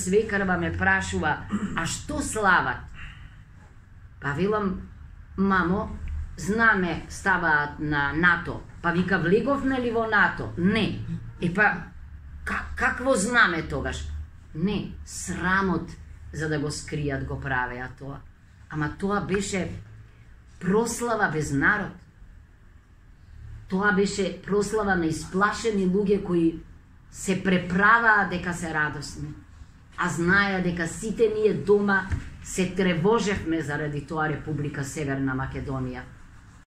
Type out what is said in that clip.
Свекарва ме прашува, а што слават? Па велам, мамо, знаме ставаат на НАТО. Па вика, влеговме ли во НАТО? Не. Па, какво знаме тогаш? Не, срамот за да го скријат го правеа тоа. Ама тоа беше прослава без народ. Тоа беше прослава на исплашени луѓе кои се преправаа дека се радосни. А знаеа дека сите ние дома се тревожевме заради тоа Република Северна Македонија.